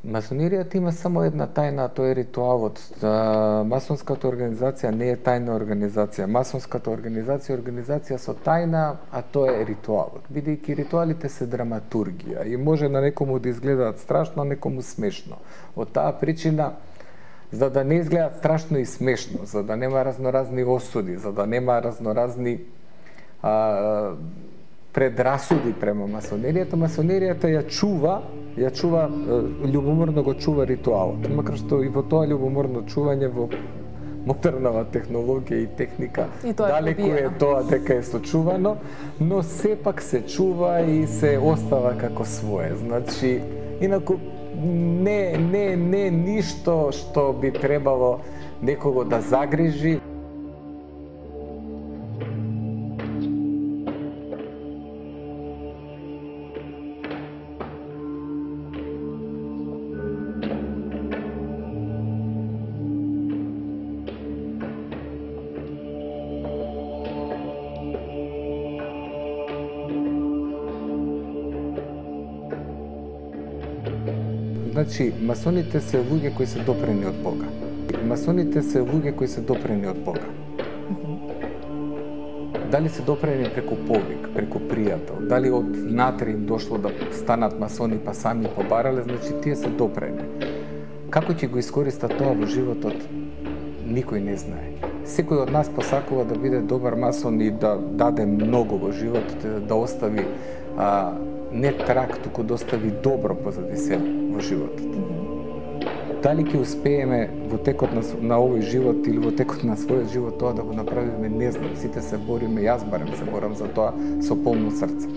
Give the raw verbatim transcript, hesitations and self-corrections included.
Масониријата има само една тајна, а тоа е ритуалот. Масонската организација не е тајна организација. Масонската организација е организација со тајна, а тоа е ритуалот. Бидејќи ритуалите се драматургија и може на некому да изгледаат страшно, а некому смешно. Од таа причина, за да не изгледаат страшно и смешно, за да нема разноразни осуди, за да нема разноразни а, предрасуди према масонеријата, масонеријата ја чува, ја чува, љубоморно го чува ритуалот. Макар што и во тоа љубоморно чување во модернава технологија и техника, и далеку е тоа дека е сочувано, но сепак се чува и се остава како свое. Значи, инаку не не не ништо што би требало некого да загрижи. Значи, масоните се луѓе кои се допрени од Бога. Масоните се луѓе кои се допрени од Бога. Дали се допрени преку повик, преку пријател, дали од внатре им дошло да станат масони па сами побарале, значи тие се допрени. Како ќе го искористат тоа во животот, никој не знае. Секој од нас посакува да биде добар масон и да даде многу во животот, да остави а, не трак, туку да остави добро позади себе во животот. Дали ќе успееме во текот на, на овој живот или во текот на својот живот тоа да го направиме, не знам. Сите се бориме, јас барем се борам за тоа со полно срце.